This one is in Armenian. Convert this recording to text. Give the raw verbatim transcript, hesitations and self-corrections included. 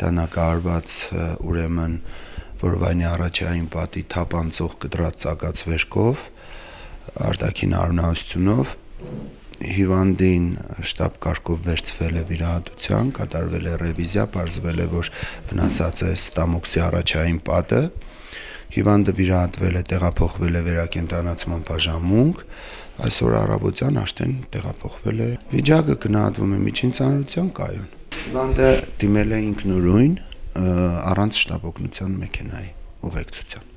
դանակահարված ուրեմն որովայնի առաջային պատի թափանցող կտրած ծակած վերքով, արտաքին արյունահոսությունով, հիվանդին շտապ կարգով վերցվել է վիրահատության, կատարվել է ռևիզիա, պարզվել է, որ վնասած է ստամոքսի առաջային պատը, հիվանդը վիրահատվել է, տեղափոխվել է վերակենդանացման բաժանմունք, այսօր առավոտյան արդեն տեղափոխվել է, վիճակը գնահատվում է միջին ծանրության կայուն։ Հիվանդը դիմել է ինքնուրույն, առանց շտապօգնության մեքենայի ուղեկցության։